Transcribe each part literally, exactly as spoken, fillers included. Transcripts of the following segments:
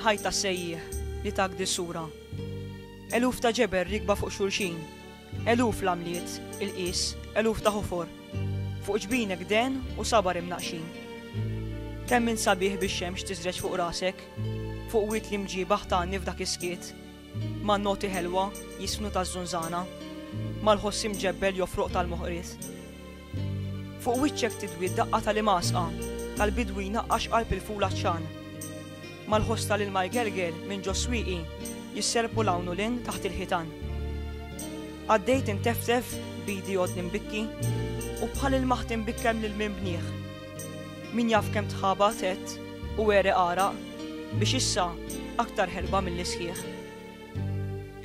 Il-ħajt tas-sejjieħ li tak dis-sura. Eluf ta' ġebel rikba fuq xulxin, eluf l-għamliet, il-qies, eluf ta' ħofor. Fuq ġbinek den u sabar imnaqxin. Kemm int sabiħ bix-xemx tiżreġ fuq rasek, fuq wied li mġiebaħ tgħanni f'dak is-skiet, man-noti ħelwa jiżfnu taż-żunżana, mal-ħoss imġebbel jofroq tal-moħqriet. Fuq wiċċek tidwi d-daqqa tal-imgħasqa, tal-bidwi jnaqqax qalb il-ful għatxan. Mal-ħoss tal-ilma jgelgel minn ġo swieqi jisserpu 'l hawn u 'l hinn taħt il-ħitan. Għaddejt inteftef b'idi għodni mbikki u bħal ilmaħt imbikkem lil min bnieh. Min jaf kemm tħabat għedt u għereq għaraq biex issa aktar ħerba milli sħiħ.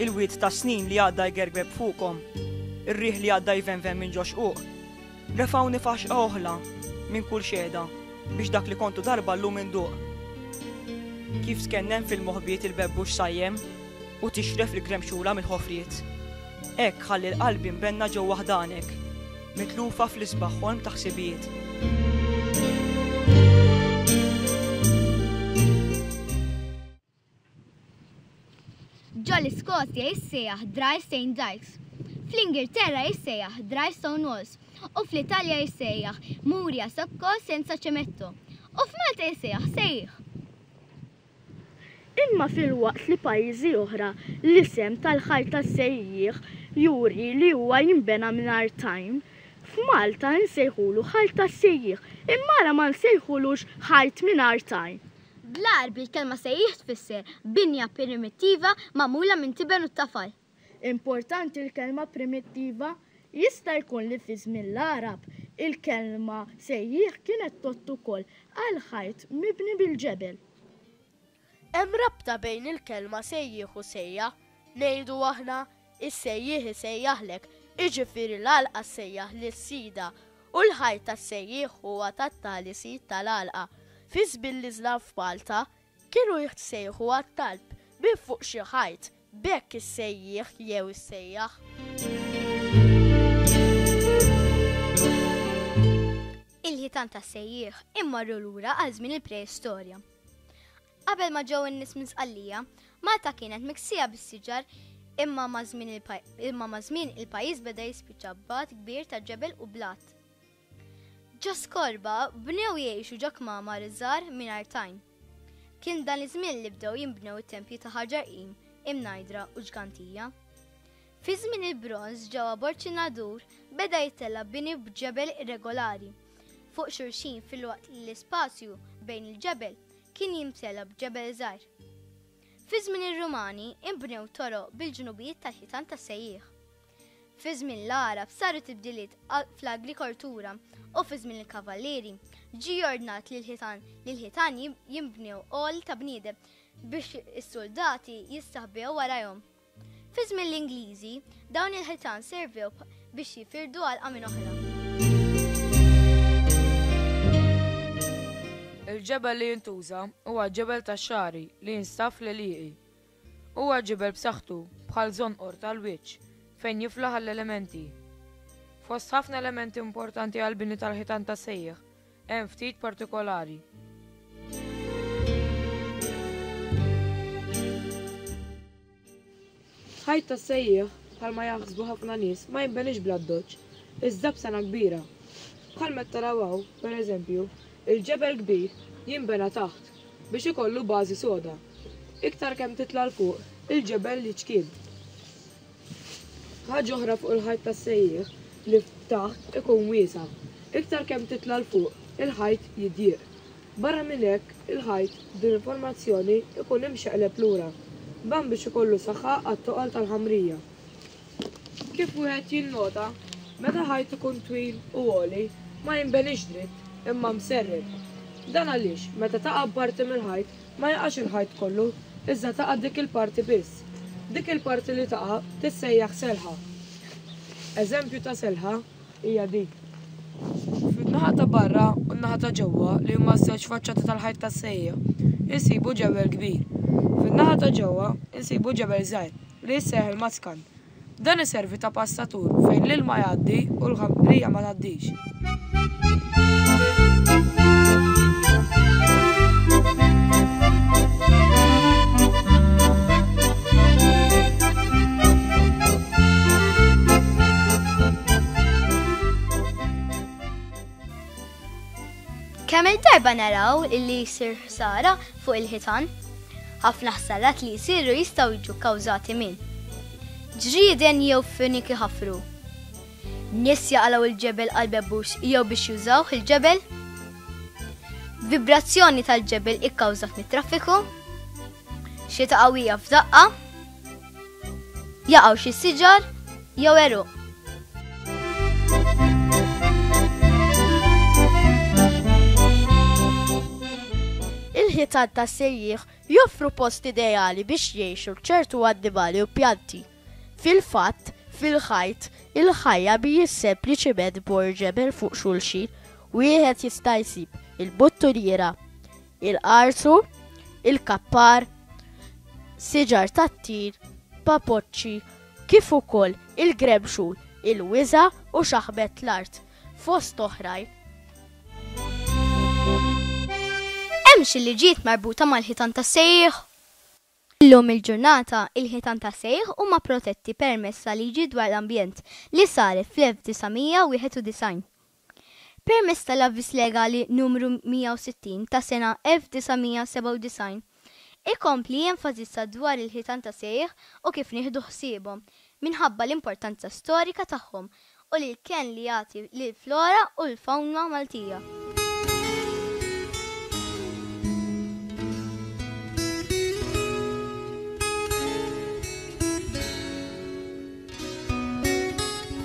Il-wied tas-snin li għadda jgergreb fuqkom, ir-riħ li għadda jvenven minn ġo xquq, refgħuni f'għaxqa oħla minn kull xehda biex dak li kontu darba llum induq. Kif tkennen fil-moħbiet il-bebbux sajjem u tixref il-gremxula mill-ħofriet. Hekk ħalli l-qalbi mbenna ġewwa ħdanek, mitlufa fl-isbaħ ħolm ta' ħsibijiet. Ġo l-Iskozja jissejjaħ Dry Saint Dykes, fl-Ingilterra jissejjaħ Dry Stone Walls u fl-Italja jissejjaħ Muri a secco senza cemento u f'Malta jissejjaħ sejjieħ. Imma filwaqt li pajjiżi oħra l-isem tal-ħajt tas-sejjieħ juri li huwa jinbena mingħajr tajn, f'Malta nsejħulu ħajt tas-sejjieħ imma ara ma nsejħulux ħajt mingħajr tajn. Bl-Għarbi l-kelma sejjieħ tfisser binja primittiva magħmula minn tiben u tafal. Importanti l-kelma primittiva? Jista' jkun li fi żmien l-Għarab il-kelma sejjieħ kienet tgħodd ukoll għal ħajt mibni bil-ġebel. Hemm rabta bejn il-kelma sejjieħ u sejjaħ, ngħidu aħna is-sejjieħ isejjaħlek, jiġifieri l-għalqa ssejjaħ lis-sida u l-ħajt tas-sejjieħ huwa tat-tali sid tal-għalqa. Fi żmien l-Iżlam f'Malta kienu jissejħu għat-talb minn fuq xi ħajt, b'hekk is-sejjieħ jew is-sejjaħ. Il-ħitan tas-sejjieħ immorru lura għal żmien il-preistorja. Qabel ma ġew in-nies minn Sqallija, Malta kienet miksija bis-siġar imma ma' żmien il-paj-, imma ma' żmien il-pajjiż beda jispiċċa b'għadd kbir ta' ġebel u blat. Ġo Skorba bnew jgħixu ġo kmamar iżgħar mingħajr tajn. Kien dan iż-żmien li bdew jinbnew it-tempji ta' Ħaġar Qim, Imnajdra u Ġgantija. Fi żmien il-bronż ġewwa Borġ in-Nadur beda jittella' bini b'ġebel irregolari fuq xulxin filwaqt li l-ispazju bejn il-ġebel kien jimtela b'ġebel żgħir. Fi żmien ir-Rumani inbnew toroq bil-ġnubijiet tal-ħitan tas-sejjieħ. Fi żmien l-Għarab saru tibdiliet fl-agrikoltura u fi żmien il-Kavallieri ġie ordnat li l-ħitan li l-ħitan jinbnew għoli ta' bniedem biex is-soldati jistaħbew warajhom. Fi żmien l-Ingliżi dawn il-ħitan servew biex jifirdu għalqa minn oħra. Il-ġebel li jintuża huwa ġebel tax-xagħri li jinstab fl-għelieqi. Huwa ġebel b'saħħtu bħal żonqor tal-wiċċ fejn jiflaħ għall-elementi. Fost ħafna elementi importanti għall-bini tal-ħitan tas-sejjieħ hemm ftit partikolari. Ħajt tas-sejjieħ bħalma jaħsbu ħafna nies ma jinbenix bl-addoċċ, iżda b'sena kbira. Bħal meta taraw hawn, pereżempju, il-ġebel kbir jinbena taħt biex ikollu bażi soda. Iktar kemm titla' 'l fuq, il-ġebel jiċkien. Ħaġa oħra fuq il-ħajt tas-sejjieħ li taħt ikun wiesa'. Iktar kemm titla' 'l fuq, il-ħajt jidjieq. Barra minn hekk, il-ħajt b'din il-formazzjoni ikun imxeqleb lura, dan biex ikollu saħħa għat-toqol tal-ħamrija. Kif wieħed jinnota, meta ħajt ikun twil u għoli, ma jinbenix dritt, imma mserreb. Dan għaliex meta taqa' parti mill-ħajt ma jaqax il-ħajt kollu, iżda taqa' dik il-parti biss. Dik il-parti li taqa' tissejjaħ selħa. Eżempju ta' selħa hija din. Fin-naħa ta' barra u n-naħa ta' ġewwa li huma ż-żewġ faċċati tal-ħajt tas-sejjieħ insibu ġebel kbir. Fin-naħa ta' ġewwa insibu ġebel żgħir li jissejjaħ il-maskan. Dan iservi ta' passatur fejn l-ilma jgħaddi u l-ħamrija ma tgħaddix. Kemm il-darba naraw illi jsir ħsara fuq il-ħitan. Ħafna ħsarat li jsiru jistgħu jiġu kkawżati minn ġrieden jew finiki ħafru. Nies jaqalgħu il-ġebel għal bebbux jew biex jużawh il-ġebel. Vibrazzjoni tal-ġebel ikkawżat mit-traffiku. Xita qawwija f'daqqa. Jaqgħu xi siġar jew għeruq. Il-ħitan tas-sejjieħ joffru post ideali biex jgħixu ċertu annimali u pjanti. Fil-fatt, fil-ħajt, il-ħajja mhijiex sempliċiment bor ġebel fuq xulxin, wieħed jista' jsib il-buttuniera, il-qarsu, il-kappar, siġar tat-tir, papoċċi, kif ukoll il-gremxul, il-wiża u xaħmet l-art, fost oħrajn. Hemm xi liġijiet marbuta mal-ħitan tas-sejjieħ? Illum il-ġurnata, il-ħitan tas-sejjieħ huma protetti permezz ta' liġi dwar l-ambjent li saret fl-elf disa' mija wieħed u disgħin. Permezz tal-avviż legali numru mija u sittin ta' sena elf disa' mija sebgħa u disgħin, ikompli jenfasizza dwar il-ħitan tas-sejjieħ u kif nieħdu ħsiebhom minħabba l-importanza storika tagħhom u li l-kenn li jagħti lill-flora u l-fawna Maltija.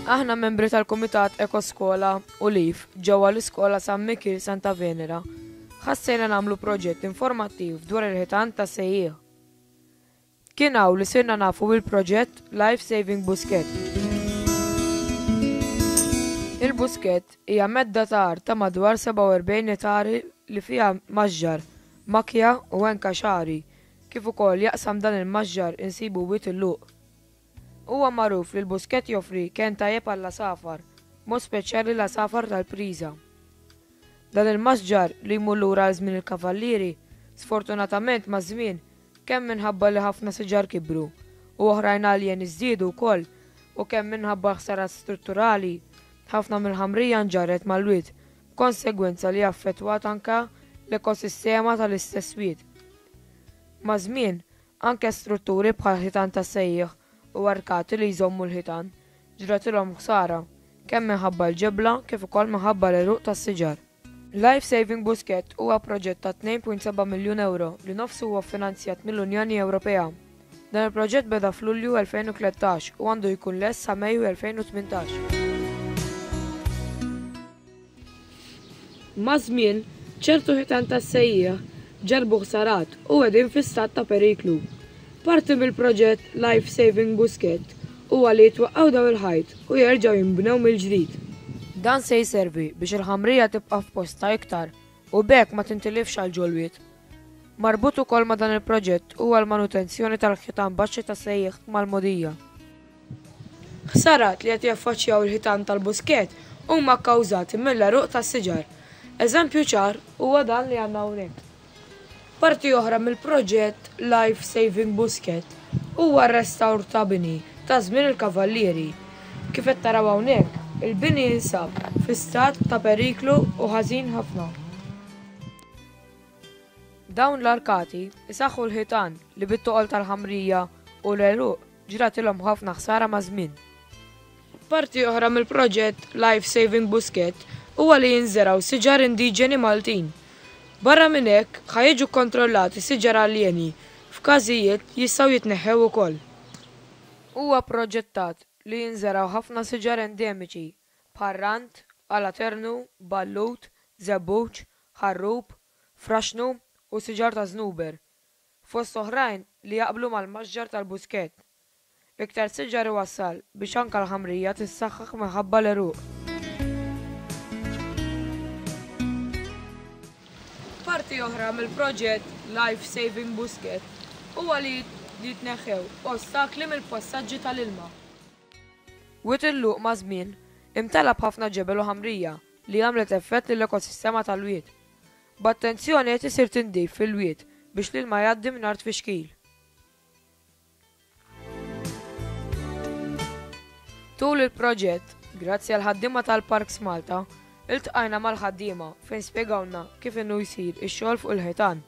Aħna membri tal-Kumitat Ekoskola u Lif ġewwa l-Iskola San Mikiel Santa Venera ħassejna nagħmlu proġett informattiv dwar il-ħitan tas-sejjieħ. Kien hawn li sirna nafu bil-proġett Life Saving Buskett. Il-Buskett hija medda ta' art ta' madwar sebgħa u erbgħin ettari li fiha maġġar, makja u enka xagħri, kif ukoll jaqsam dan il-maġġar insibu Wied il-Luq. Huwa magħruf li l-Buskett joffri kenn tajjeb għall-għasafar, mod speċjali l-għasafar tal-priża. Dan il-masġar li jmur lura għal żmien il-kavallieri, sfortunatament maż-żmien, kemm minħabba li ħafna siġar kibru u oħrajn għaljen iżdiedu wkoll, u kemm minħabba ħsarat strutturali, ħafna mill-ħamrija nġarret mal-wied, b'konsegwenza li affettwat anke l-ekosistema tal-istess wied. Maż-żmien, anke strutturi bħal ħitan tas-sejjieħ u arkati li jżommu l-ħitan ġratilhom ħsara, kemm minħabba l-ġebla kif ukoll minħabba l-għeruq tas-siġar. Life Saving Buskett huwa proġett ta' tnejn punt seba' miljun euro li nofsu huwa ffinanzjat mill-Unjoni Ewropea. Dan il-proġett beda f'Lulju elfejn u tlettax u għandu jkun lest sa Mejju elfejn u tmintax. Maż-żmien, ċertu ħitan tas-sejjieħ ġarbu ħsarat u qegħdin fi stat ta' periklu. Parti mill-proġett Life Saving Buskett huwa li jitwaqqgħu daw il-ħajt u jerġgħu jinbnew mill-ġdid. Dan se jservi biex il-ħamrija tibqa' f'postha iktar u b'hekk ma tintilifx għal ġol-wied. Marbut ukoll ma' dan il-proġett huwa l-manutenzjoni tal-ħitan baxxi ta' sejjieħ mal-mogħdija. Ħsarat li qed jaffaċċjaw il-ħitan tal-Buskett huma kkawżati mill-għeruq tas-siġar. Eżempju ċar huwa dan li għandna hawnhekk. Parti oħra mill-proġett Life Saving Buskett huwa r-restawr ta' bini ta' żmien il-kavallieri. Kif qed taraw hawnhekk, il-bini jinsab fi stat ta' periklu u ħażin ħafna. Dawn l-arkati isaħħu l-ħitan li bit-toqol tal-ħamrija u l-għeruq ġratilhom ħafna ħsara maż-żmien. Parti oħra mill-proġett Life Saving Buskett huwa li jinżeraw siġar indiġeni Maltin. Barra minn hekk, ħa jiġu kkontrollati siġar aljeni f'każijiet jistgħu jitneħħew ukoll. Huwa proġettat li jinżeraw ħafna siġar endemiċi bħal rant, alaternu, ballut, żebbuġ, ħarrub, fraxnu u siġar ta' żnuber, fost oħrajn li jaqblu mal-maġġar tal-Buskett. Iktar siġar iwassal biex anke l-ħamrija tissaħħaħ minħabba l-għeruq. Parti oħra mill-proġett Life Saving Buskett huwa li jitneħħew ostakli mill-passaġġi tal-ilma. Wied il-Luq ma' żmien imtela b'ħafna ġebel u ħamrija li għamlet effett lill-ekosistema tal-wied. B'attenzjoni qed isir tindif fil-wied biex l-ilma jgħaddi mingħajr tfixkil. Tul il-proġett, grazzi għal ħaddiema tal-Parks Malta, Iltqajna mal-ħaddiema fejn spjegawlna kif inhu jsir ix-xogħol fuq il-ħitan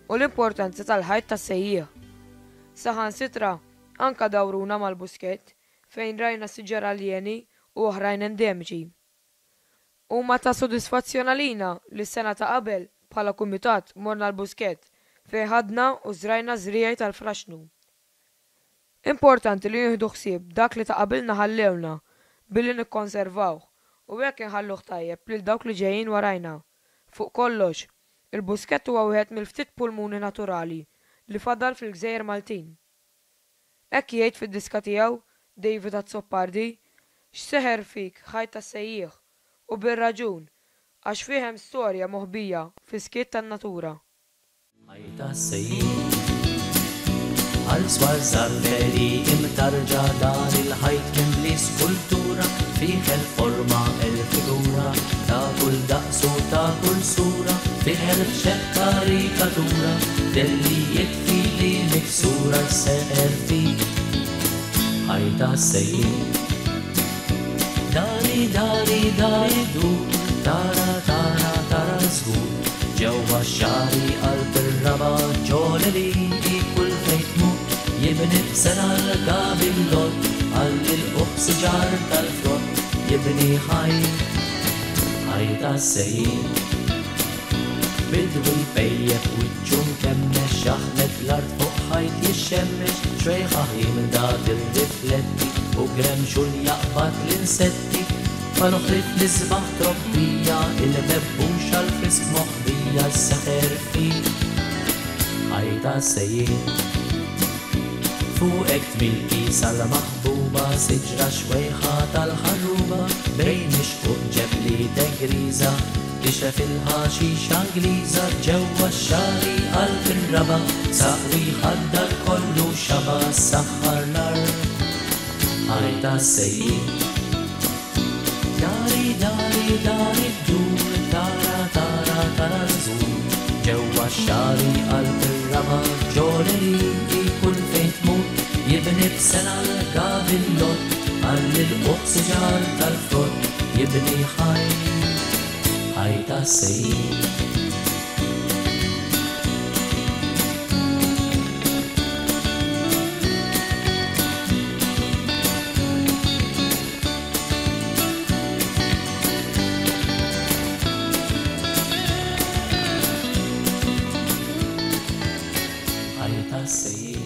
u l-importanza tal-ħajt tas-sejjieħ. Saħansitra anka dawruna mal-Buskett fejn rajna siġar aljeni u oħrajn endemiċi. Huma ta' sodisfazzjon għalina li s-sena ta' qabel bħala kumitat morna l-Buskett fejn ħadna u żrajna żriegħi tal-fraxnu. Importanti li nieħdu ħsieb dak li ta' qabilna ħallewna billi nikkonservawh u hekk inħalluh tajjeb lil dawk li ġejjin warajna. Fuq kollox, il-Buskett huwa wieħed mill-ftit pulmuni naturali li fadal fil-Gżejjer Maltin. Hekk jgħid fid-diska tiegħu David Azzopardi, x'seħer fik ħajt tas-sejjieħ, u bir-raġun, għax fih hemm storja moħbija fis-skiet tan-natura. Ħajt tas-sejjieħ. Għal swar żarbeli imtarġa dan il-ħajt mimli skultura, fih il-forma il-figura ta' kull daqs u ta' kull sura, fih elf karikatura dellijiet fili miksura seħer fik ħajt tas-sejjieħ. Dari dari dari dur, tara tara tara żgur, ġewwa x-xagħri qalb ir-raba' ġoleli kull fejn tmur, jibni b'sena l-gabillott għal il-quq siġar tal-frott, jibni ħajt ħajt tas-sejjieħ. Bidwi jpejjep wiċċu mkemmex, jaħmet l-art fuq ħajt jixxemmex, xwejħa ħimda tirrifletti u gremxul jaqbad l-insetti, mal-oħrif l-isbaħ trobbija, il-bebbux għal-frisk moħbija s-seħer fik ħajt tas-sejjieħ. Fuqek tmilki sal-maħbuba, siġra xwejħa tal-ħarruba, bejn ix-xquq ġebli tegriża, tixref il-ħaxixa Ingliża, ġewwa x-xagħri qalb ir-raba', saqwi ħaddar kollu xaba' saħħar l-art ħajt tas-sejjieħ. Dari dari dari ddur, tara tara tara żgur, ġewwa x-xagħri qalb ir-raba', ġoleri kull fejn tmur, jibni b'sena l-gabillott għal il-quq siġar tal-frott, jibni ħajt ħajt tas-sejjieħ. Ħajt tas-sejjieħ.